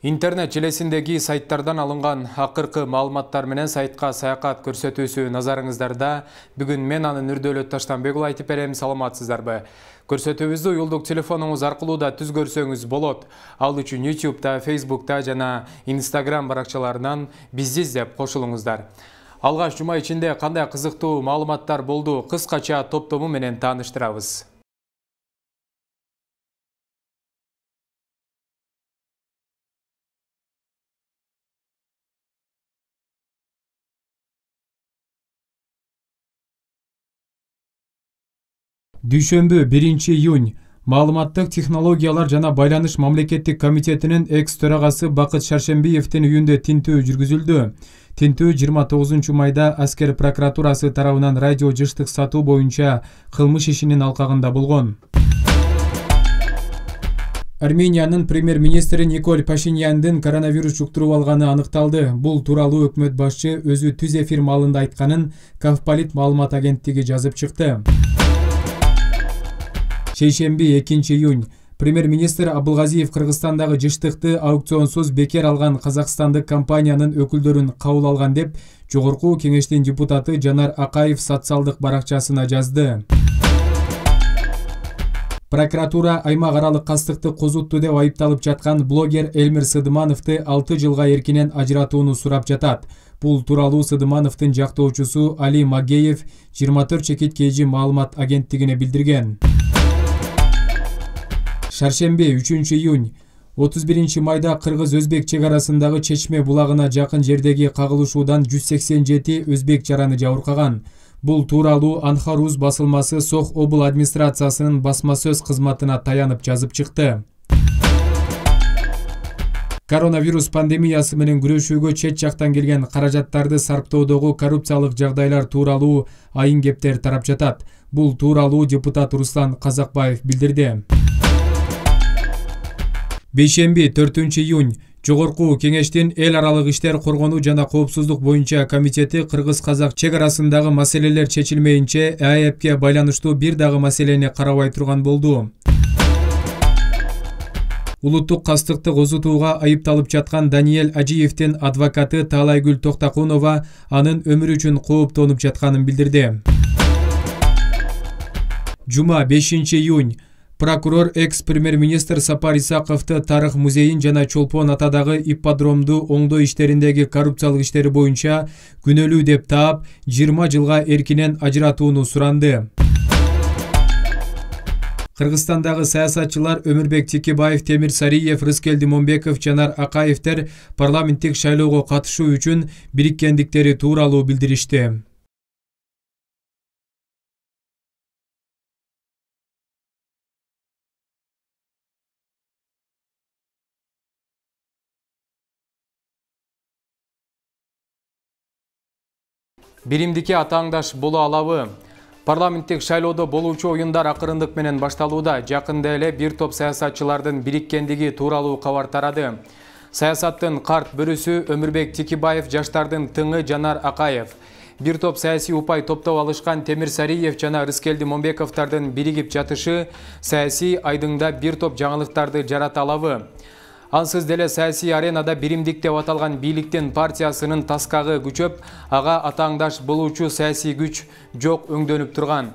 Интернет желесиндеги сайттардан алынган акыркы маалыматтар менен сайтка саякат көрсөтүүсү назарыңыздарда. Бүгүн мен анын Нурдөлөт Таштанбек уулу айтып берем, саламатсыздарбы? Көрсөтүүбүздү уюлдук телефонуңуз аркылуу да түз көрсөңүз болот. Ал үчүн YouTube'да, Facebook'та жана Instagram баракчаларынан бизди издеп кошулуңуздар. Алгаш жума ичинде кандай кызыктуу маалыматтар болду, кыскача топтому менен тааныштырабыз. Дүйшөмбү 1-июнь Маалыматтык технологиялар жана байланыш мамлекеттик комитетинин экс-төрагасы Бакыт Шаршембиевдин үйүндө тинтүү жүргүзүлдү. Тинтүү 29 майда аскер прокуратурасы тарабынан радио жыштык сатуу боюнча кылмыш ишинин алкагында болгон. Армениянын премьер-министри Николь Пашиняндын коронавирус жуктуруп алганы аныкталды. Бул тууралуу өкмөт башчы өзү түз эфир маалында айтканын Кавполит маалымат агенттиги жазып чыкты. Шейшемби 2-июнь премьер-министр Абылгазиев Кыргызстандагы жыштыкты аукционсуз бекер алган казакстандык компаниянын өкүлдөрүн кабыл алган деп Жогорку кеңештин депутаты Жанар Акаев социалдык баракчасына жазды. Прокуратура аймак аралык кастыкты козутту деп айыпталып жаткан блогер Элмир Сыдымановду 6 жылга эркинен ажыратууну сурап жатат. Бул тууралуу Сыдымановдун жактоочусу Али Магеев 24 чекит KG маалымат агенттигине билдирген. Шаршемби 3-июнь 31 майда Кыргыз-Өзбек чек арасындагы Чечме булагына жакын жердеги кагылышуудан 187 өзбек жараны жабыркаган. Бул тууралуу Анхаруз басылмасы Сох обул администрациясынын басма сөз кызматына таянып жазып чыкты. Коронавирус пандемиясы менен күрөшүүгө чет жактан келген каражаттарды сарптоодогу коррупциялык жагдайлар тууралуу айын кептер тарап жатат. Бул тууралуу депутат Руслан Казакбаев билдирди. Бейшемби 4-июнь Жогорку кеңештин эл аралык иштер коргонуу жана коопсуздук боюнча комитети кыргыз-казак чек арасындагы маселелер чечилмейинче АЭПке байланыштуу бир дагы маселени карабай турган болду. Улуттук кастыкты козутууга айыпталып жаткан Даниэль Ажиевдин адвокаты Таалайгүл Токтакунова анын өмүрү үчүн кооптонуп жатканын билдирди. Жума 5-июнь прокурор экс-премьер-министр Сапар Исаковду Тарых музейин жана Чолпон атадагы ипподромду оңдоо иштериндеги коррупциялык иштери боюнча күнөөлүү деп таап 20 жылга эркинен ажыратууну суранды. Кыргызстандагы саясатчылар Өмүрбек Текебаев, Темир Сариев, Рыскелди Момбеков, Жанар Акаевдер парламенттик шайлоого катышуу үчүн бириккендиктери тууралуу билдиришти. Биримдикке атааңдаш боло алабы? Парламенттик шайлоодо болуучу оюндар акырындык менен башталууда. Жакында эле бир топ саясатчылардын бириккендиги тууралуу кабар тарады. Саясаттын карт бөрүсү Өмүрбек Текебаев, жаштардын тыңы Жанар Акаев, бир топ саясий упай топтоп алышкан Темир Сариев жана Рыскелди Момбековдордун биригип жатышы саясий айдыңда бир топ жаңылыктарды жарата алабы? Ансыз деле саясий аренада биримдик деп аталган бийликтин партиясынын таскагы күчөп, ага атааңдаш болуучу саясий күч жок өңдөнүп турган.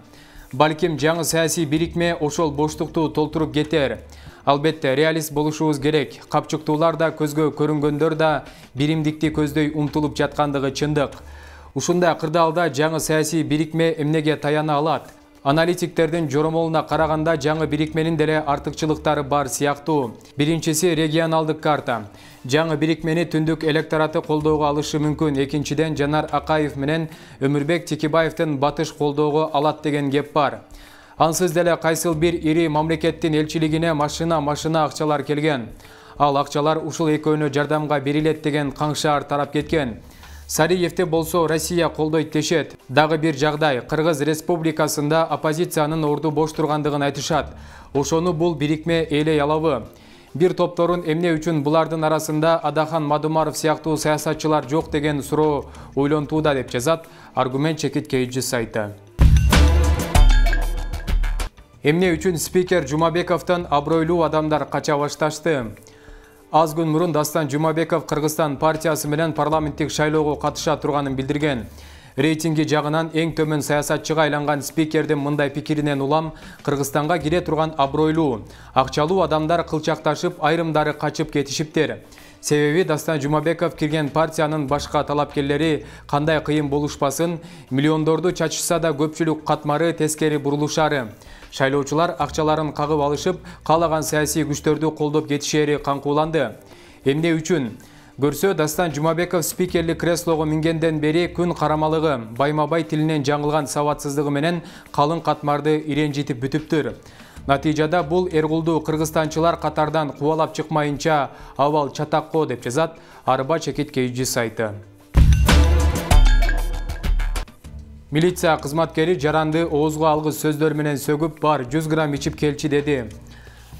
Балким жаңы саясий бирикме ошол боштукту толтуруп кетер. Албетте, реалист болушубуз керек. Капчыктуулар да, көзгө көрүнгөндөр да биримдикти көздөй умтулуп жаткандыгы чындык. Ушундай кырдаалда жаңы саясий бирикме эмнеге таяна алат? Аналитиктердин жоромолуна караганда жаңы бирикменин деле артыкчылыктары бар сыяктуу. Биринчиси регионалдык карта. Жаңы бирикмени түндүк электораты колдоого алышы мүмкүн. Экинчиден Жанар Акаев менен Өмүрбек Текебаевдин батыш колдоого алат деген кеп бар. Ансыз деле кайсыл бир ири мамлекеттин элчилигине машина акчалар келген. Ал акчалар ушул экөөнө жардамга берилет деген каңшаар тарап кеткен. Сариевди болсо Россия колдойт дешет. Дагы бир жагдай, Кыргыз Республикасында оппозициянын орду бош тургандыгын айтышат. Ошону бул бирикме ээлей алабы? Бир топторун эмне үчүн булардын арасында Адахан Мадумаров сыяктуу саясатчылар жок деген суроо ойлонтууда деп жазат Аргумент чекит KG сайты. Эмне үчүн спикер Жумабековдон абройлуу адамдар кача башташты? аз күн мурун Дастан Жумабеков Кыргызстан партиясы менен парламенттик шайлоого катыша турганын билдирген. Рейтинги жагынан эң төмөн саясатчыга айланган спикердин мындай пикиринен улам Кыргызстанга кире турган абройлуу, акчалуу адамдар кылчакташып, айрымдары качып кетишиптер. Себеби Дастан Жумабеков кирген партиянын башка талапкерлери кандай кыйын болушпасын, миллиондорду чачышса да көпчүлүк катмары тескери бурулушары. Шайлоочулар акчаларын кагып алышып, каалаган саясий күчтөрдү колдоп кетишери каңкууланды. Эмне үчүн? Көрсө, Дастан Жумабеков спикерлик креслого мингенден бери күн карамалыгы, байма-бай тилинен жаңылган сабатсыздыгы менен калың катмарды иренжитип бүтүптүр. Натыйжада бул эргулду кыргызстанчылар катардан кубалап чыкмайынча абал чатакко деп жазат Арба Чекиткейчи сайты. Милиция кызматкери жаранды оозго алгыс сөздөр менен сөгүп, бар 100 грамм ичип келчи деди.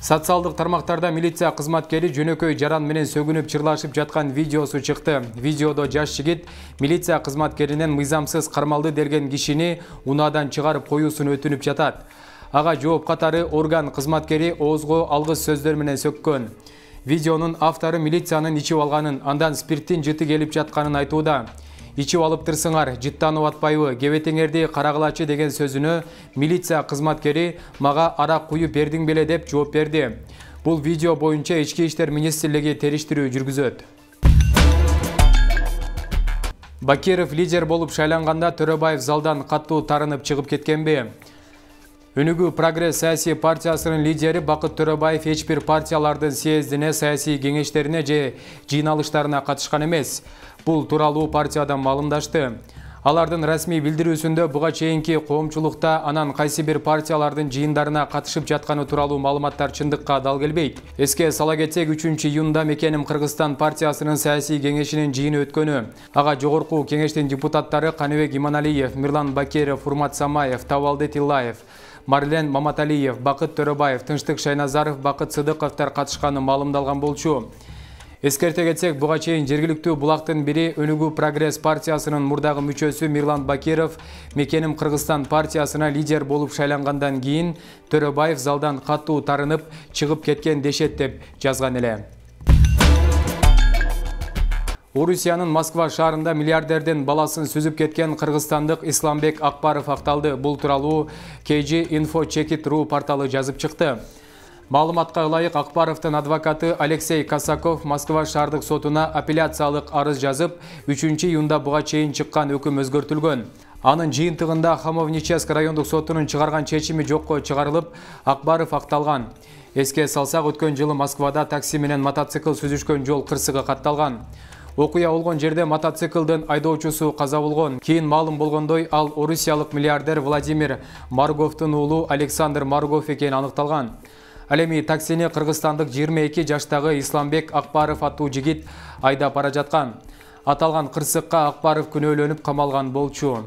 Социалдык тармактарда милиция кызматкери жөнөкөй жаран менен сөгүнүп чырлашып жаткан видеосу чыкты. Видеодо жаш жигит милиция кызматкеринен мыйзамсыз кармалды делген кишини унаадан чыгарып коюусун өтүнүп жатат. Ага жооп катары орган кызматкери оозго алгыс сөздөр менен сөккөн. Видеонун автору милициянын ичип алганын, андан спирттин жыты келип жатканын айтууда. Ичип алыптырсыңар, жыттанып атпайбы, кебетеңерди карагылачы деген сөзүнө милиция кызматкери мага арак куюп бердиң беле деп жооп берди. Бул видео боюнча Ички иштер министрлиги териштирүү жүргүзөт. Бакиров лидер болуп шайланганда Төрөбаев залдан каттуу тарынып чыгып кеткенби? Өнүгүү Прогресс саясий партиясынын лидери Бакыт Төрөбаев эч бир партиялардын съездине, саясий кеңештерине же жыйналыштарына катышкан эмес. Бул тууралуу партиядан маалымдашты. Алардын расмий билдирүүсүндө буга чейинки коомчулукта анан кайсы бир партиялардын жыйындарына катышып жатканы тууралуу маалыматтар чындыкка дал келбейт. Эске сала кетсек, 3-июнда Мекеним Кыргызстан партиясынын саясий кеңешинин жыйыны өткөнү. Ага жогорку кеңештин депутаттары Каныбек Иманалиев, Мирлан Бакиров, Урмат Самаев, Табалды Тиллаев, Марлен Маматалиев, Бакыт Төрөбаев, Тынчтык Шайназаров, Бакыт Сыдыковтар катышканы маалымдалган болчу. Эскерте кетсек, буга чейин жергиликтүү булактын бири Өнүгүү Прогресс партиясынын мурдагы мүчөсү Мирлан Бакиров Мекеним Кыргызстан партиясына лидер болуп шайлангандан кийин Төрөбаев залдан каттуу тарынып чыгып кеткен дешет деп жазган эле. Орусиянын Москва шаарында миллиардердин баласын сүзүп кеткен кыргызстандык Исламбек Акбаров акталды. Бул тууралуу KG Info Chekit.ru порталы жазып чыкты. Маалыматка ылайык, Акбаровдун адвокаты Алексей Косаков Москва шаардык сотуна апелляциялык арыз жазып, 3-июнда буга чейин чыккан өкүм өзгөртүлгөн. Анын жыйынтыгында Хамовническ райондук сотунун чыгарган чечими жокко чыгарылып, Акбаров акталган. Эске салсак, өткөн жылы Москвада такси менен мотоцикл сүзүшкөн жол кырсыгы катталган. Окуя болгон жерде мотоциклдин айдоочусу каза болгон. Кийин маалым болгондой, ал орусиялык миллиардер Владимир Марговдун уулу Александр Маргов экени аныкталган. Ал эми таксини кыргызстандык 22 жаштагы Исламбек Акбаров аттуу жигит айдап бара жаткан. Аталган кырсыкка Акбаров күнөөлөнүп камалган болчу.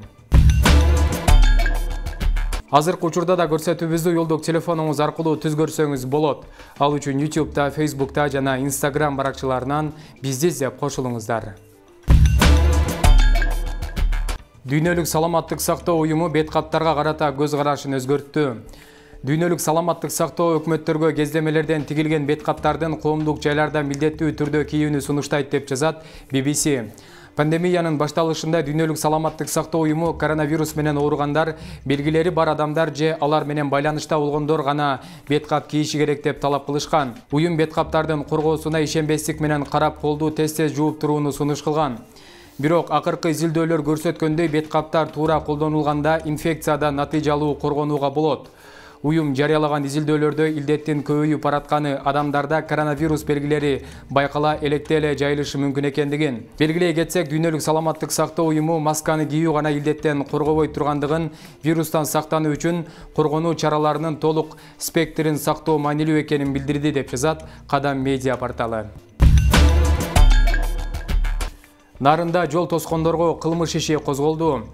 Азыркы учурда да көрсөтүүбүздү жолдук телефонуңуз аркылуу түз көрсөңүз болот. Ал үчүн YouTube'да, Facebook'та жана Instagram баракчаларынан бизди издеп кошулуңуздар. Дүйнөлүк саламаттык сактоо уюму бет каптарга карата көз карашын өзгөрттү. Дүйнөлүк саламаттык сактоо өкмөттөргө кездемелерден тигилген бет каптардын коомдук жайларда милдеттүү түрдө кийүүнү сунуштайт деп жазат BBC. Пандемиянын башталышында Дүйнөлүк саламаттык сактоо уюму коронавирус менен ооругандар, белгилери бар адамдар же алар менен байланышта болгондор гана бет кап кийиши керек деп талап кылышкан. Уюм бет каптардын коргоосуна ишенбестик менен карап, колду тез-тез жууп турууну сунуш кылган. Бирок акыркы изилдөөлөр көрсөткөндөй, бет каптар туура колдонулганда инфекциядан натыйжалуу коргонууга болот. Уюм жарыялаган изилдөөлөрдө илдеттин көбөйүп баратканы, адамдарда коронавирус белгилери байкала электе эле жайылышы мүмкүн экендигин. Белгилей кетсек, Дүйнөлүк саламаттык сактоо уюму масканы кийүү гана илдеттен коргобой тургандыгын, вирустан сактануу үчүн коргонуу чараларынын толук спектрин сактоо маанилүү экенин билдирди деп жазат Кадам медиа порталы. Нарында жол тоскондорго кылмыш иши козголду.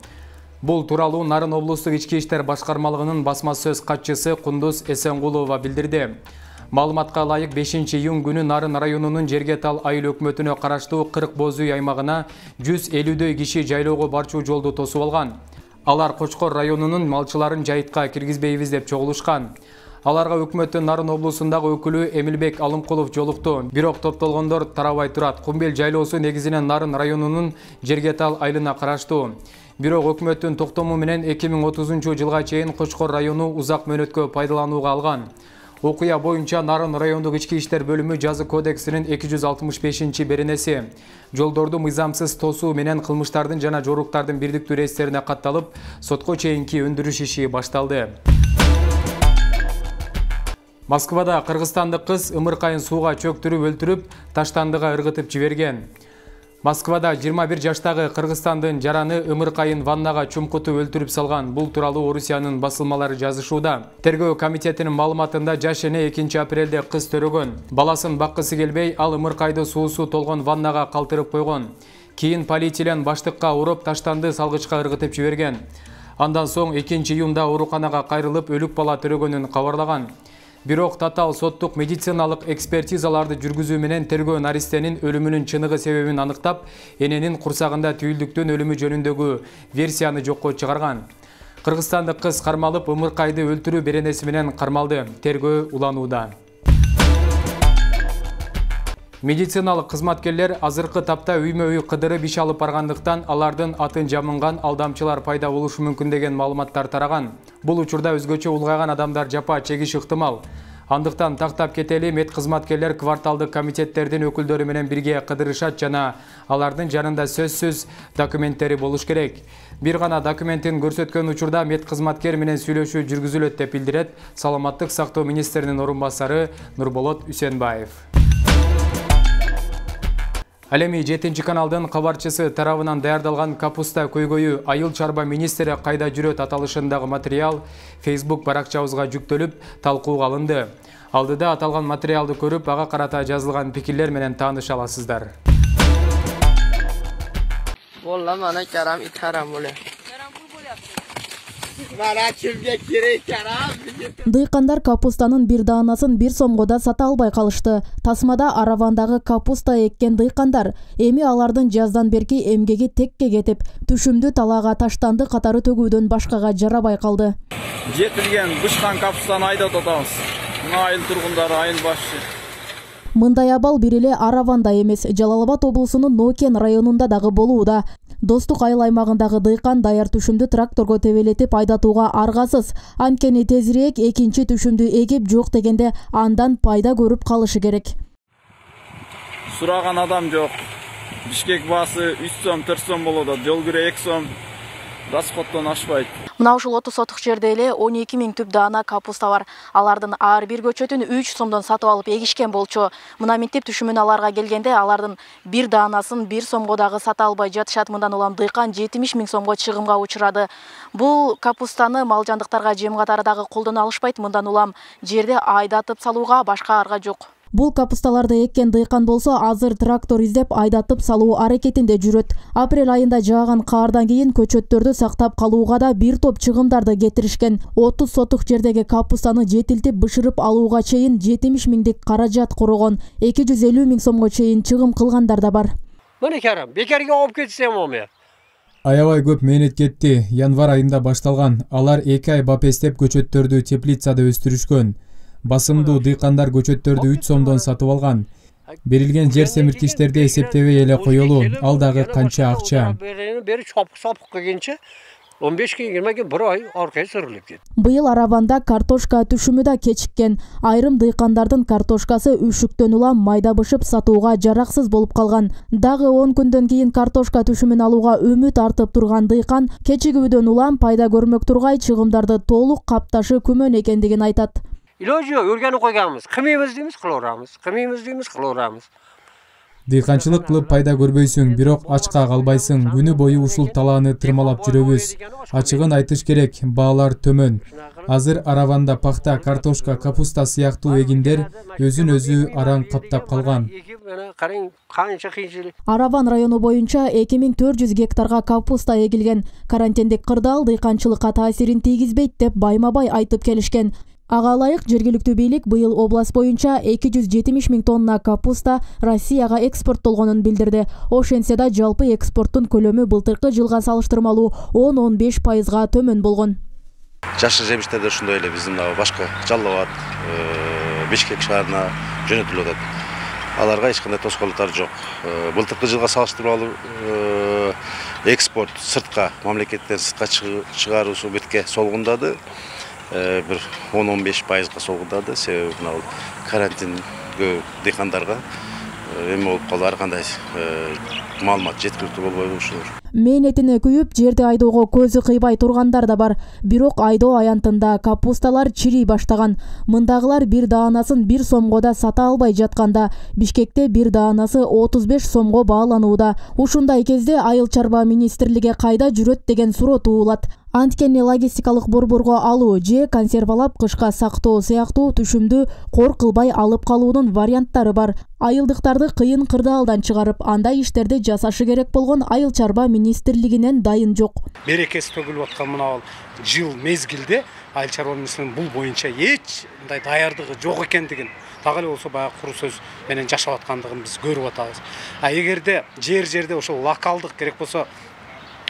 Бул тууралуу Нарын облустук ички иштер башкармалыгынын басма сөз катчысы Кундуз Эсенгулова билдирди. Маалыматка ылайык, 5-июнь күнү Нарын районунун Жергетал айыл өкмөтүнө караштуу 40 боз үй аймагына 150дөй киши жайлоого барчу жолду тосуп алган. Алар Кочкор районунун малчыларын жайытка киргизбейбиз деп чогулушкан. Аларга өкмөттүн Нарын облусундагы өкүлү Эмилбек Алымкулов жолукту. Бирок топтолгондор тарабай турат. Кумбел жайлоосу негизинен Нарын районунун Жергетал айылына караштуу. Бирок өкмөттүн токтому менен 2030 жылга чейин Кочкор району узак мөөнөткө пайдаланууга алган. Окуя боюнча Нарын райондук ички иштер бөлүмү жаза кодексинин 265-беренеси жолдорду мыйзамсыз тосуу менен кылмыштардын жана жоруктардын бирдиктүү реестрине катталып, сотко чейинки өндүрүш иши башталды. Москвада кыргызстандык кыз ымыркайын сууга чөктүрүп өлтүрүп, таштандыга ыргытып жиберген. Москвада 21 жаштагы Кыргызстандын жараны ымыркайын ваннага чумкутуп өлтүрүп салган. Бул тууралуу Орусиянын басылмалары жазышууда. Тергөө комитетинин маалыматында жаш эне 2 апрелде кыз төрөгөн. Баласын баккысы келбей, ал ымыркайды суусу толгон ваннага калтырып койгон. Кийин полиэтилен баштыкка уруп, таштанды салгычка ыргытып жиберген. Андан соң 2 июнда ооруканага кайрылып, өлүк бала төрөгөнүн кабарлаган. Бирок татаал соттук медициналык экспертизаларды жүргүзүү менен тергөө наристенин өлүмүнүн чыныгы себебин аныктап, эненин курсагында түйүлдүктөн өлүмү жөнүндөгү версияны жокко чыгарган. Кыргызстандык кыз кармалып, ымыркайды өлтүрүү беренеси менен кармалды. Тергөө уланууда. Медициналык кызматкерлер азыркы тапта үймө-үй кыдырып иш алып баргандыктан алардын атын жамынган алдамчылар пайда болушу мүмкүн деген маалыматтар тараган. Бул учурда өзгөчө улгайган адамдар жапа чегиши ыктымал. Андыктан тактап кетели, мед кызматкерлер кварталдык комитеттердин өкүлдөрү менен бирге кыдырышат жана алардын жанында сөзсүз документтери болуш керек. Бир гана документин көрсөткөн учурда мед кызматкер менен сүйлөшүү жүргүзүлөт деп билдирет Саламаттык сактоо министринин орун басары Нурболот Үсенбаев. Ал эми 7-каналдын кабарчысы тарабынан даярдалган капуста көйгөйү айыл чарба министри кайда жүрөт аталышындагы материал Facebook баракчабызга жүктөлүп, талкууга алынды. Алдыда аталган материалды көрүп, ага карата жазылган пикирлер менен тааныша аласыздар. Vallahi bana karam itaram bule. Дыйкандар капустанын бир даанасын 1 сомго сата албай калышты. Тасмада Аравандагы капуста эккен дыйкандар эми алардын жаздан берки эмгеги текке кетип, түшүмдү талаага таштанды катары төгүүдөн башкага жарабай калды. Жетилген бышкан капустаны айдап атабыз. Айыл тургундары, айыл башчы. Мындай абал бир эле Араванда эмес, Жалал Абад облусунун Нокен районунда дагы болууда. Достук айыл аймагындагы дыйкан даяр түшүмдү тракторго тебелетип айдатууга аргасыз. Анткени тезирээк экинчи түшүмдү эгип жок дегенде андан пайда көрүп калышы керек. Сураган адам жок. Бишкек баасы 3 сом, 4 сом болот, жол кирө 2 сом. Расходтон ашпайт. Мына ушул 30 сотук жерде эле 12 000 түп даана капуста бар. Алардын ар бир көчөтүн 3 сомдон сатып алып эгишкен болчу. Мына минтип түшүмүн аларга келгенде алардын бир даанасын 1 сомго дагы сата албай жатышат. Мындан улам дыйкан 70 000 сомго чыгымга учурады. Бул капустаны мал жандыктарга жем катары дагы колдоно алышпайт. Мындан улам жерде айдатып салууга башка арга жок. Бул капусталарды эккен дыйкан болсо азыр трактор издеп айдатып салуу аракетинде жүрөт. Апрель айында жааган каардан кийин көчөттөрдү сактап калууга да бир топ чыгымдарды кетиришкен. 30 сотук жердеги капустаны жетилтип бышырып алууга чейин 70 000 каражат кургон. 250 000 сомго чейин чыгым кылгандар да бар. Мына карам, бекерге алып кетсем оме. Аябай көп мээнет кетти. Январь айында башталган. Алар 2 ай бапестеп көчөттөрдү теплицада өстүрүшкөн. Басымдуу дыйкандар көчөттөрдү 3 сомдон сатып алган. Берилген жер семирткичтерди эсептебей эле коелу. Ал дагы канча акча. Бери чопук келгенче 15 күн 20 күн 1 ай аркай сүрүлүп кетти. Быйыл Араванда картошка түшүмү да кечиккен. Айрым дыйкандардын картошкасы үшүктөн улам майда бышып сатууга жараксыз болуп калган. Дагы 10 күндөн кийин картошка түшүмүн алууга үмүт артып турган дыйкан кечигүүдөн улам пайда көрмөк тургай чыгымдарды толук капташы күмөн экендигин айтат. Иложо өргөнү койганбыз. Кымыбыз дейбиз, кылабыз. Кымыбыз дейбиз, кылабыз. Дыйканчылык кылып пайда көрбөйсүң, бирок ачка калбайсың. Күнү бою ушул талааны тырмалап жүрөбүз. Ачыгын айтыш керек, баалар төмөн. Азыр Араванда пахта, картошка, капуста сыяктуу эгиндер өзүн-өзү араң каптап калган. Араван району боюнча 2400 гектарга капуста эгилген. Карантиндик кырдаал дыйканчылыкка таасирин тийгизбейт деп байма-бай айтып келишкен. Ага ылайык жергиликтүү бийлик быйыл област боюнча 270 000 тонна капуста Россияга экспорттолгонун билдирди. Ошентсе да жалпы экспорттун көлөмү былтыркы жылга салыштырмалуу 10-15% төмөн болгон. Жашыл жемиштерде ушундай эле биздин башка Жалал Абад, Бишкек шаарына жөнөтүлүп атат. Аларга эч кандай тоскоолдуктар жок. Былтыркы жылга салыштырмалуу экспорт сыртка, мамлекеттен сыртка чыгаруусу бетке солгундады. Bir 10-15%га солгундады. Себеби мына карантингө дыйкандарга эме болуп калды, ар кандай маалымат жеткиликтүү болбой ушулар. Мээнетине күйүп, жерди айдоого көзү кыйбай тургандар да бар. Бирок айдоо аянтында капусталар чирий баштаган. Мындагылар бир даанасын 1 сомго да сата албай жатканда, Бишкекте бир даанасы 35 сомго бааланууда. Ушундай кезде Айыл чарба министрлиги кайда жүрөт деген суроо туулат. Анткени логистикалык борборго алуу же консервалап кышка сактоо сыяктуу түшүмдү кор кылбай алып калуунун варианттары бар. Айылдыктарды кыйын кырдаалдан чыгарып, андай иштерди жасашы керек болгон Айыл чарба министрлигинен дайын жок. Берекеси төгүлүп аткан мына жыл мезгилде Айыл чарба министрлигинин бул боюнча эч мындай даярдыгы жок экендигин, так эле болсо баягы куру сөз менен жашап аткандыгын биз көрүп атабыз. Эгерде жерде ошол локалдык керек болсо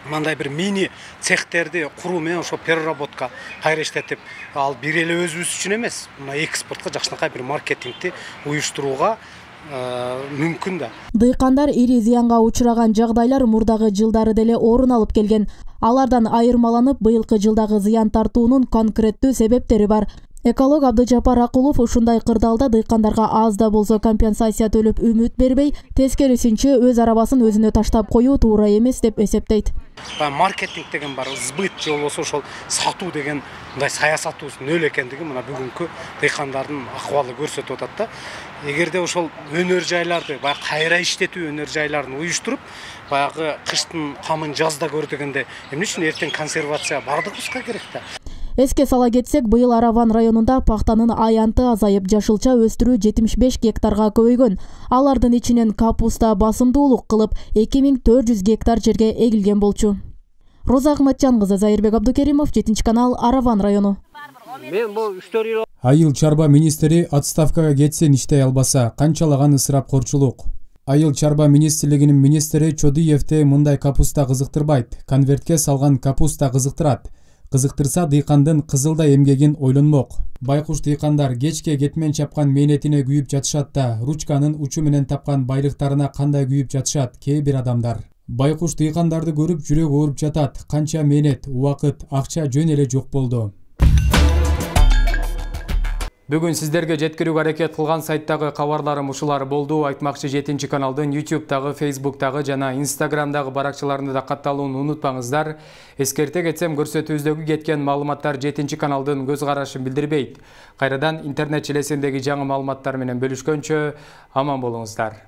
мындай бир мини цехтерди куруу менен ошо переработка кайра иштетип, ал бир эле өзүбүз үчүн эмес, мына экспортко жакшынакай бир маркетингди уюштурууга мүмкүн да. Дыйкандар ири зыянга учураган жагдайлар мурдагы жылдары деле орун алып келген. Алардан айырмаланып, быйылкы жылдагы зыян тартуунун конкреттүү себептери бар. Эколог Абдыжапар Акулов ушундай кырдаалда дыйкандарга аз да болсо компенсация төлөп үмүт бербей, тескерисинче өз арабасын өзүнө таштап коюу туура эмес деп эсептейт. Маркетинг деген бар, сбыт же болбосо ошол сатуу деген мындай саясатыбыз нөл экендиги мына бүгүнкү дыйкандардын акыбалы көрсөтүп атат да. Эгерде ошол өнөр жайларды, баягы кайра иштетүү өнөр жайларын уюштуруп, баягы кыштын камын жазда көр дегенде, эмне үчүн эртең консервация бардыгыбызга керек да. Эске сала кетсек, быйыл Араван районунда пахтанын аянты азайып, жашылча өстүрүү 75 гектарга көбөйгөн. Алардын ичинен капуста басымдуулук кылып 2400 гектар жерге эгилген болчу. Роза Ахматжан кызы, Зайырбек Абдукеримов, 7-канал, Араван району. Айыл чарба министри отставкага кетсин иштей албаса, канчалаган ысырапкорчулук. Айыл чарба министрлигинин министри Чодиевди мындай капуста кызыктырбайт, конвертке салган капуста кызыктырат. Кызыктырса дыйкандын кызылдай эмгегин ойлонмок. Байкуш дыйкандар кечке кетмен чапкан мээнетине күйүп жатышат да, ручканын учу менен тапкан байлыктарына кандай күйүп жатышат кээ бир адамдар. Байкуш дыйкандарды көрүп жүрөк ооруп жатат. Канча мээнет, убакыт, акча жөн эле жок болду. Бүгүн сиздерге жеткирүүгө аракет кылган сайттагы кабарларым ушулар болду. Айтмакчы 7-каналдын YouTube'дагы, Facebook'тагы жана Instagram'дагы баракчаларында да катталууну унутпаңыздар. Эскерте кетсем, көрсөтүүбүздөгү кеткен маалыматтар 7-каналдын көз карашын билдирбейт. Кайрадан интернет желесиндеги жаңы маалыматтар менен бөлүшкөнчө аман болуңуздар.